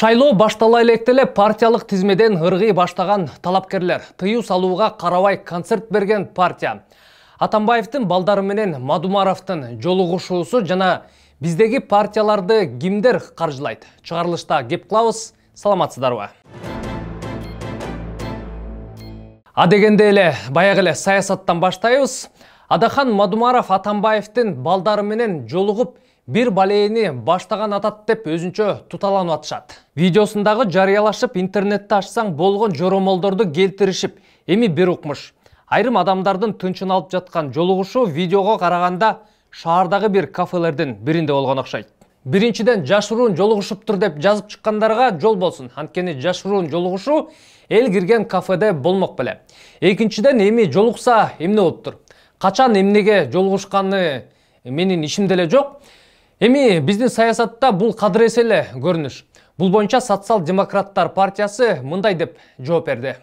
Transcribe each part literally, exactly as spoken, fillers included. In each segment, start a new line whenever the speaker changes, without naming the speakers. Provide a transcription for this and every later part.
Шайлоо баштала электеле партиялык тизмеден ыргый баштаган талапкерлер тыюу салууга карабай концерт берген партия. Атамбаевдин балдары менен Мадумаровдун жолугушуусу жана биздеги партияларды кимдер каржылайт? Чыгарылышта кеп кылабыз. Саламатсыздарбы? А дегенде эле баягы эле саясаттан баштайбыз. Адахан Мадумаров Атамбаевдин балдары менен жолугуп бир балейни баштаган атат деп өзүнчө туталанып атышат. Видеосундагы жарыялашып интернетте ачсаң болгон жоромолдорду келтиришип, эми бир укмуш. Айрым адамдардын тынчын алып жаткан жолугушу видеого караганда шаардагы бир кафелердин биринде болгон окшойт. Биринчиден жашыруун жолугушуптур деп жазып чыккандарга жол болсун. Анткени жашыруун жолугушу эл кирген кафеде болмок беле. Экинчиден эми жолукса эмне болуптур? Качан эмнеге жолугушканы менин ишимде эле жок. Эми биздин саясатта бул кадыр эсе эле көрүнүш. Бул боюнча Социал-демократтар партиясы мындай деп жооп берди.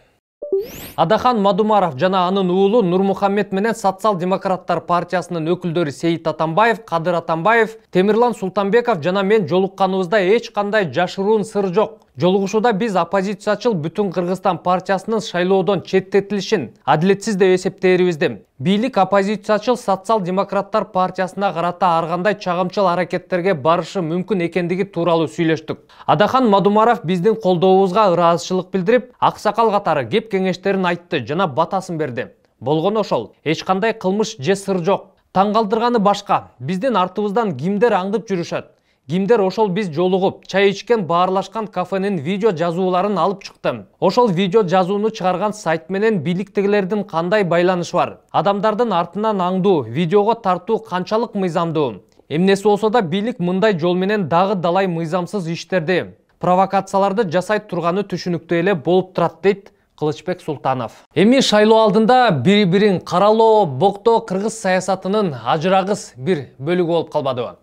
Адахан Мадумаров жана анын уулу Нурмухаммед менен Социал-демократтар партиясынын өкүлдөрү Сейит Атамбаев, Кадыр Атамбаев, Темирлан Султанбеков жана мен жолукканыбызда эч кандай жашыруун сыр жок. Жолугушууда биз оппозициячыл Бүтүн Кыргызстан партиясынын шайлоодон четтетилишин адилетсиз деп эсептээрибизди, бийлик оппозициячыл Социал-демократтар партиясына карата ар кандай чагымчыл аракеттерге барышы мүмкүн экендиги тууралуу сүйлөштүк. Адахан Мадумаров биздин колдообузга ыраазычылык билдирип, аксакал катары кеп кеңештерин айтты жана батасын берди. Болгону ошол, эч кандай кылмыш же сыр жок. Таң калтырганы башка, биздин артыбыздан кимдер аңдып жүрүшөт? Кимдер ошол биз жолугуп, чай ичкен баарлашкан кафенин видео жазууларын алып чыкты. Ошол видео жазууну чыгарган сайт менен бийликтегилердин кандай байланышы бар? Адамдардын артынан аңдуу, видеого тартуу канчалык мыйзамдуу? Эмнеси болсо да бийлик мындай жол менен дагы далай мыйзамсыз иштерди, провокацияларды жасай турганы түшүнүктүү эле болуп турат дейт Кылычбек Султанов. Эми шайлоо алдында бири-бирин каралоо, боктоо кыргыз саясатынын ажырагыс бир бөлүгү болуп калбадыбы?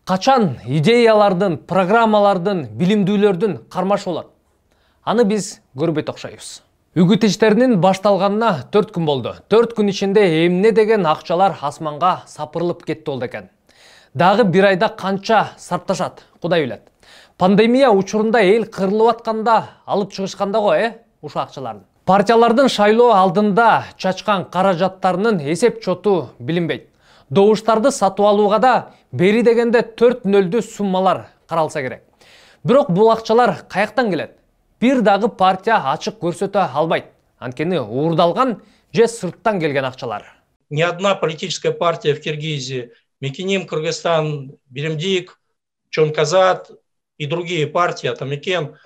Качан идеялардын, программалардын, билимдүүлөрдүн кармашы болот? Аны биз көрбөй окшойбуз. Үгүт иштеринин башталганына төрт күн болду. төрт күн ичинде эмне деген акчалар асманга сапырылып кетти болду экен. Дагы бир айда канча сарпташат, Кудай билет. Пандемия учурунда эл кырылып атканда алып чыгышканда го, э, ушул акчаларды. Партиялардын шайлоо алдында чачкан каражаттарынын эсеп чоту билинбейт. Добуштарды сатып алууга да бери дегенде төрт нөлдүү суммалар каралса керек. Бирок бул акчалар каяктан келет? Бир дагы партия ачык көрсөтө албайт. Анткени уурдалган же сырттан келген акчалар.
Ни одна политическая партия в Киргизии, Мекеним Кыргызстан, Биримдик, Чонказат и другие партии, Атамекен,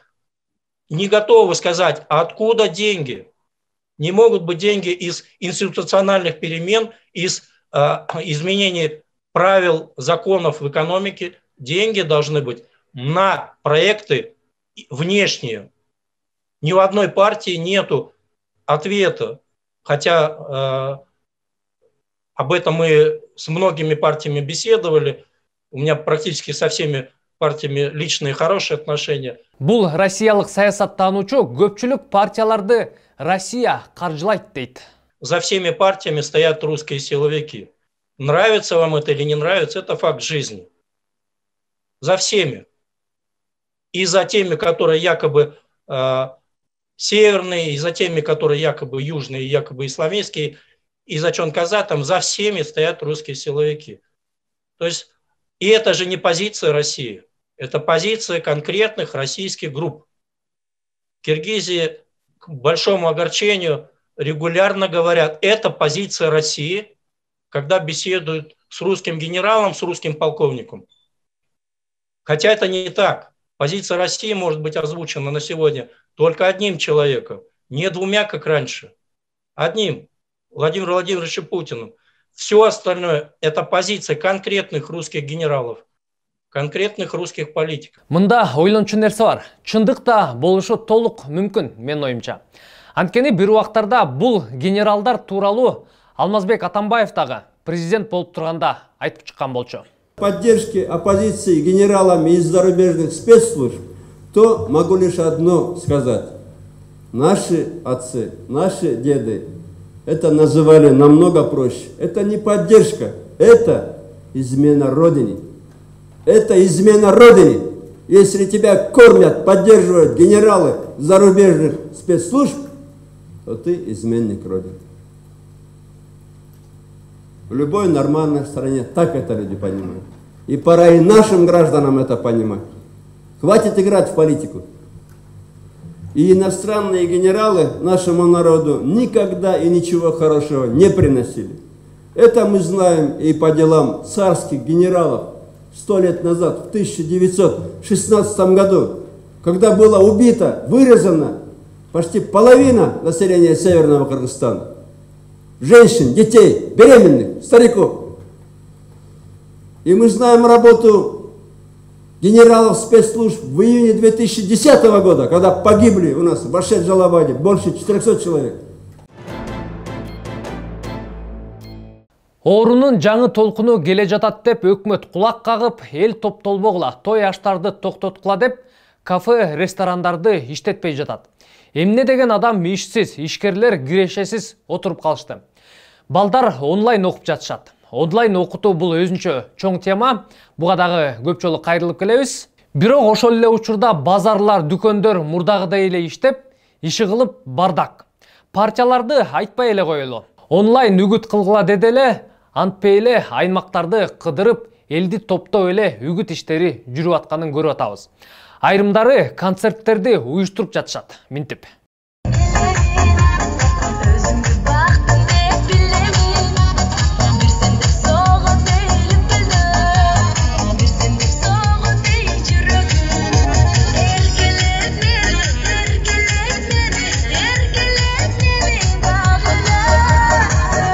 не готовы сказать, откуда деньги. Не могут быть деньги из институциональных перемен, из изменений правил, законов в экономике. Деньги должны быть на проекты внешние. Ни у одной партии нету ответа, хотя э, об этом мы с многими партиями беседовали. У меня практически со всеми партиями личные хорошие отношения.
Бул россиялык саясаттануучу көпчүлүк партияларды Россия каржылайт дейт.
За всеми партиями стоят русские силовики. Нравится вам это или не нравится, это факт жизни. За всеми. И за теми, которые якобы э, северные, и за теми, которые якобы южные, якобы исламистские, и за Чонказатом, за всеми стоят русские силовики. То есть, и это же не позиция России, это позиция конкретных российских групп. В Киргизии, к большому огорчению, регулярно говорят, это позиция России, когда беседуют с русским генералом, с русским полковником. Хотя это не так. Позиция России может быть озвучена на сегодня только одним человеком, не двумя, как раньше. Одним, Владимиром Владимировичем Путиным. Все остальное – это позиция конкретных русских генералов, конкретных русских политиков.
Мында ойлончу нерсе бар. Чындыкта болушу толук мүмкүн, мен оюмча. Анткени бир убактарда бул генералдар тууралуу Алмазбек Атамбаев дагы президент болуп турганда айтып чыккан болчу.
Поддержки оппозиции генералами из зарубежных спецслужб, то могу лишь одно сказать. Наши отцы, наши деды это называли намного проще. Это не поддержка, это измена Родине. Это измена Родине. Если тебя кормят, поддерживают генералы зарубежных спецслужб, то ты изменник Родины. В любой нормальной стране так это люди понимают. И пора и нашим гражданам это понимать. Хватит играть в политику. И иностранные генералы нашему народу никогда и ничего хорошего не приносили. Это мы знаем и по делам царских генералов сто лет назад, в тысяча девятьсот шестнадцатом году, когда было убито, вырезано почти половина населения Северного Кыргызстана. Женщин, детей, беременных, стариков. И мы знаем работу генералов спецслужб в июне две тысячи десятого года, когда погибли у нас в Башет-Жалабаде больше четырёхсот человек.
Оорунун жаңы толкуну келе жатат деп өкмөт кулак кагып, эл топтолбогула, той аштарды токтоткула деп кафе, ресторандарды иштетпей жатат. Эмне деген адам ишсиз, ишкерлер кирешесиз отуруп калышты. Балдар онлайн окуп жатышат. Онлайн окутуу бул өзүнчө чоң тема. Буга дагы көп жолу кайрылып келебиз. Бирок ошол эле учурда базарлар, дүкөндөр мурдагыдай эле иштеп, иши кылып бардак. Партияларды айтпай эле коелу. Онлайн үгүт кылгыла деди эле, антпей эле аймактарды кыдырып, элди топтоп эле үгүт иштери жүрүп атканын көрүп атабыз. Айрымдары концерттерди уюштуруп жатышат, минтип.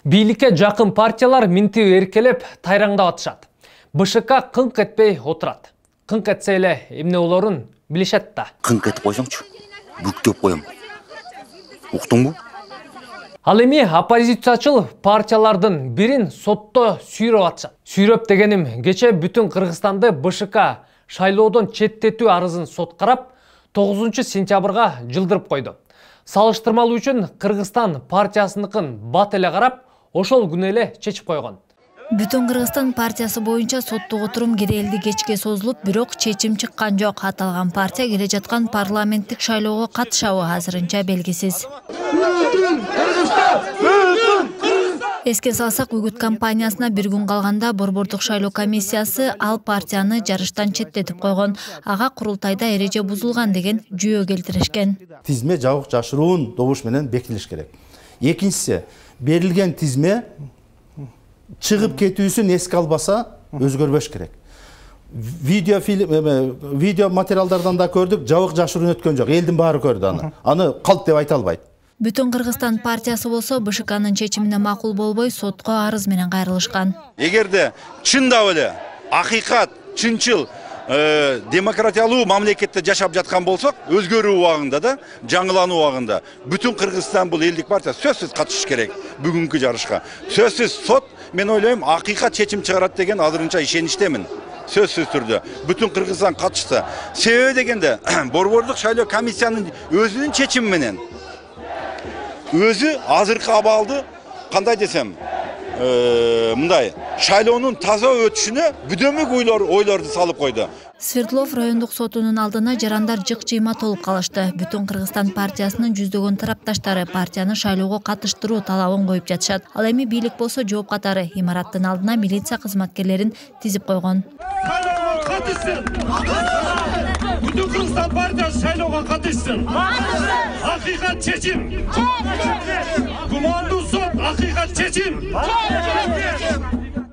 Бийликке жакын партиялар минтип эркелеп тайраңдап атышат. БШК кыңк этпей отурат. Кыңк этсе эле эмне болорун билишет да.
Кыңк этип койсоңчу, бүктөп коем. Уктуңбу?
Ал эми оппозициячыл партиялардын бирин сотто сүйрөп атышат. Сүйрөп дегеним, кече бүтүн Кыргызстанды БШК шайлоодон четтетүү арызын сот карап, тогузунчу сентябрга жылдырып койду. Салыштырмалуу үчүн Кыргызстан партиясыныкын бат эле карап, ошол күнү эле чечип койгон.
Бүтүн Кыргызстан партиясы боюнча соттук отурум кирээлди кечке созулуп, бирок чечим чыккан жок. Аталган партия келе жаткан парламенттик шайлоого катышабы азырынча белгисиз. Эске салсак, үгүт кампаниясына бир күн калганда Борбордук шайлоо комиссиясы ал партияны жарыштан четтетип койгон. Ага курултайда эреже бузулган деген жүйө келтиришкен.
Тизме жабык жашыруун добуш менен бекитилиш керек. Экинчиси, берилген тизме чыгып кетүүсүн эске албаса өзгөрбөш керек. Видео фильм, видео материалдардан да көрдүк, жабык жашыруун өткөн жок. Элдин баары көрдү аны. Аны калп деп айта албайт.
Бүтүн Кыргызстан партиясы болсо БШКнын чечимине макул болбой сотко арыз менен кайрылышкан.
Эгерде чындап эле акыйкат, чынчыл демократиялуу мамлекетте жашап жаткан болсок, өзгөрүү убагында да, жаңылануу убагында бүтүн Кыргызстан бул элдик партия сөзсүз катышыш керек бүгүнкү жарышка. Сөзсүз сот, мен ойлойм, акыйкат чечим чыгарат деген азырынча ишеничтемин. Сөзсүз түрдө бүтүн Кыргызстан катышса. Себеби дегенде Борбордук шайлоо комиссиянын өзүнүн чечими менен өзү азыркы абалды кандай десем, мындай шайлоонун таза өтүшүнө бүдөмүк ойлорду салып койду.
Свердлов райондук сотунун алдына жарандар жык-жыйма толуп калышты. Бүтүн Кыргызстан партиясынын жүздөгөн тарапташтары партияны шайлоого катыштыруу талабын коюп жатышат. Ал эми бийлик болсо жооп катары имараттын алдына милиция кызматкерлерин тизип койгон.
Бүтүн Кыргызстан партиясы шайлоого катышсын. Акыйкат чечим. Кумандуу сот, акыйкат чечим.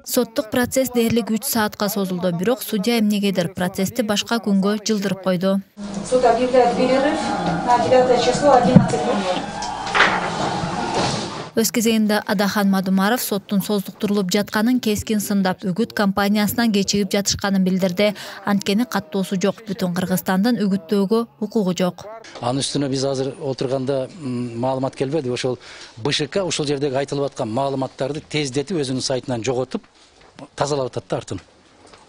Соттук процесс дээрлик үч саатка созулду, бирок судья эмнегедир процессти башка күнгө жылдырып койду.
Суд объявляет перерыв на девятое число одиннадцать ноль ноль.
Өз кезегинде Адахан Мадумаров соттун создуктурулуп жатканын кескин сындап, үгүт кампаниясынан кечигип жатышканын билдирди. Анткени каттоосу жок, бүтүн Кыргызстандын үгүттөөгө укугу жок.
Анын үстүнө биз азыр отурганда маалымат келбеди. Ошол БШК ошол жердеги айтылып аткан маалыматтарды тездетип өзүнүн сайтынан жоготуп, тазалап атат да артын.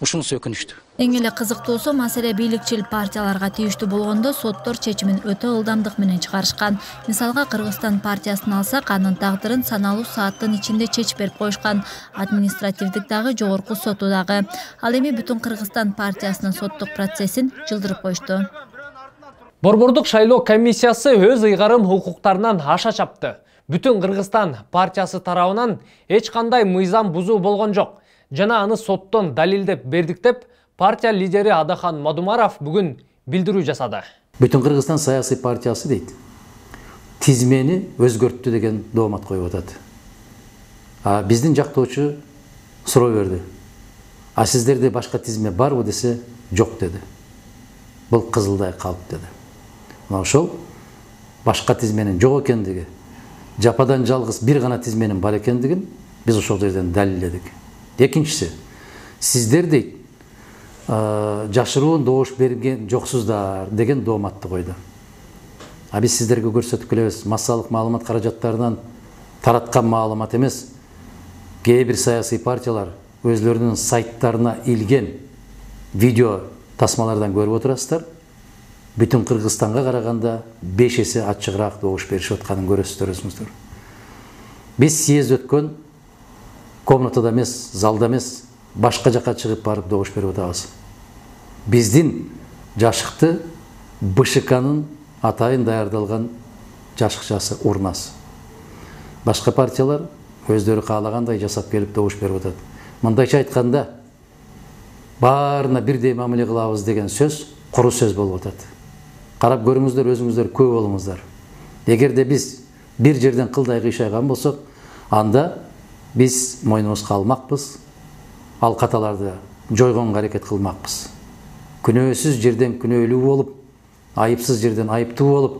ушунусу өкүнүчтүү.
Эң эле кызыктуусу маселе бийликчил партияларга тийиштүү болгондо соттор чечимин өтө ылдамдык менен чыгарышкан. Мисалга Кыргызстан партиясын алсак, анын тагдырын саналуу сааттын ичинде чечип берип коюшкан. Административдик дагы, жогорку соту дагы. Ал эми Бүтүн Кыргызстан партиясынын соттук процессин жылдырып коюшту.
Борбордук шайлоо комиссиясы өз ыйгарым укуктарынан аша чапты. Бүтүн Кыргызстан партиясы тарабынан эч кандай мыйзам бузуу болгон жок жана аны соттон далилдеп бердик деп партия лидери Адахан Мадумаров бүгүн билдирүү жасады.
Бүтүн Кыргызстан саясий партиясы дейт. Тизмени өзгөрттү деген доомат коюп атат. А биздин жактоочу суроо берди. А сиздерде башка тизме барбы десе, жок деди. Бул кызылдай калып деди. Мына ошол башка тизменин жок экендиги, жападан жалгыз бир гана тизменин бар экендигин биз ошол жерден далилдедик. Экинчиси, сиздер дейт, жашыруун добуш берген жоксуздар деген дооматты койду. А биз сиздерге көрсөтүп келебиз, массалык маалымат каражаттарынан тараткан маалымат эмес. Кээ бир саясий партиялар өзлөрүнүн сайттарына илген видео тасмалардан көрүп отурасыздар. Бүтүн Кыргызстанга караганда беш эсе ачыгыраак добуш беришип атканын көрөсүздөр өзүңүздөр. Биз съезд өткөн комнатада эмес, залда эмес, башка жака чыгып барып добуш берип атабыз. Биздин жашыкты БШКнын атайын даярдалган жашыкчасы урнасы. Башка партиялар өздөрү каалагандай жасап келип добуш берип атат. Мындайча айтканда, баарына бирдей мамиле кылабыз деген сөз куру сөз болуп атат. Карап көрүңүздөр, өзүңүздөр күбө болуңуздар. Эгерде биз бир жерден кылдай кыйшайган болсок, анда биз мойнубузга алмакпыз, ал каталарды жойгонго аракет кылмакпыз. Күнөөсүз жерден күнөөлүү болуп, айыпсыз жерден айыптуу болуп,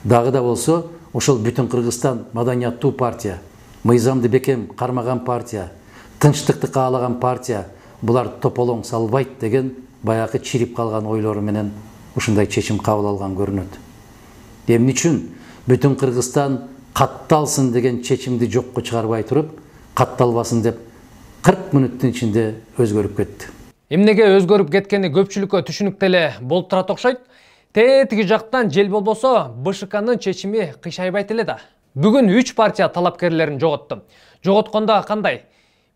дагы да болсо ошол Бүтүн Кыргызстан маданияттуу партия, мыйзамды бекем кармаган партия, тынчтыкты каалаган партия, булар тополоң салбайт деген баягы чирип калган ойлору менен ушундай чечим кабыл алган көрүнөт. Эмне үчүн Бүтүн Кыргызстан катталсын деген чечимди жокко чыгарбай туруп, катталбасын деп кырк мүнөттүн ичинде өзгөрүп кетти.
Эмнеге өзгөрүп кеткени көпчүлүккө түшүнүктүү эле болуп турат окшойт. Тетиги жактан жел болбосо, БШКнын чечими кыйшайбайт эле да. Бүгүн үч партия талапкерлерин жоготту. Жоготкондо кандай?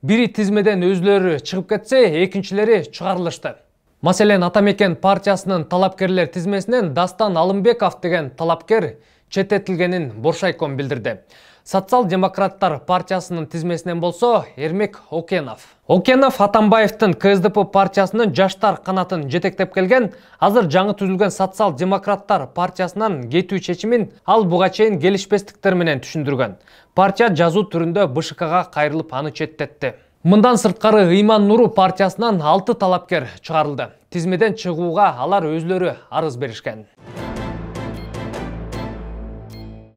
Бири тизмеден өзлөрү чыгып кетсе, экинчилери чыгарылышты. Маселен, Атамекен партиясынын талапкерлер тизмесинен Дастан Алымбеков деген талапкер четтетилгенин Боршайком билдирди. Социал-демократтар партиясынын тизмесинен болсо Эрмек Окенов. Окенов Атамбаевдин КСДП партиясынын жаштар канатын жетектеп келген, азыр жаңы түзүлгөн социал-демократтар партиясынан кетүү чечимин ал буга чейин келишпестиктер менен түшүндүргөн. Партия жазуу түрүндө БШКга кайрылып аны четтетти. Мындан сырткары Ыйман Нуру партиясынан алты талапкер чыгарылды. Тизмеден чыгууга алар өзлөрү арыз беришкен.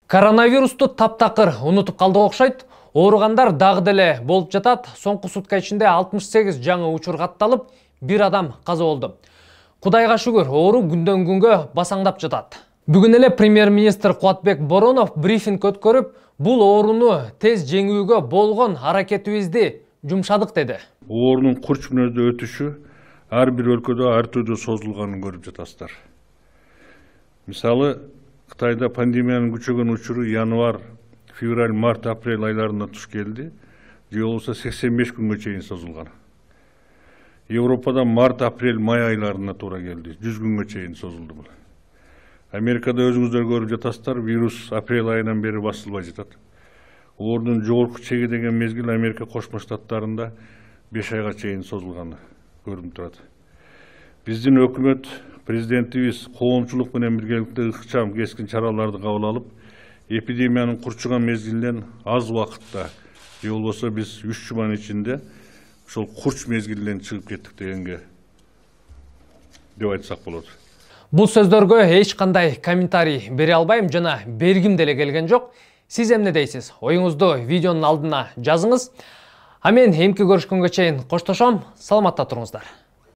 Коронавирусту таптакыр унутуп калдык окшойт. Ооругандар дагы деле болуп жатат. Соңку сутка ичинде алтымыш сегиз жаңы учур катталып, бир адам каза болду. Кудайга шүгүр, оору күндөн күнгө басаңдап жатат. Бүгүн эле премьер-министр Кубатбек Боронов брифинг өткөрүп, бул ооруну тез жеңүүгө болгон аракетибизди жумшадык деди.
Оорунун курч мүнөздө өтүшү ар бир өлкөдө ар түрдүү созулганын көрүп жатасыздар. Мисалы, Кытайда пандемиянын күчөгөн учуру январь, февраль, март, апрель айларында туш келди. Же болбосо сексен беш күнгө чейин созулган. Европада март, апрель, май айларына туура келди. жүз күнгө чейин созулду бул. Америкада өзүңүздөр көрүп жатасыздар, вирус апрель айынан бери басылбай жатат. Оорунун жогорку чеги деген мезгил Америка Кошмо Штаттарында беш айга чейин созулганы көрүнүп турат. Биздин өкмөт, президентибиз коомчулук менен биргеликте ыкчам кескин чараларды кабыл алып, эпидемиянын курчуган мезгилинен аз убакытта, же болбосо биз үч жуманын ичинде ошол курч мезгилден чыгып кеттик дегенге деп айтсак болот.
Бул сөздөргө эч кандай комментарий бере албайм жана бергим деле келген жок. Сиз эмне дейсиз? Оюңузду видеонун алдына жазыңыз. А мен эмки көрүшкөнгө чейин коштошом. Саламатта туруңуздар.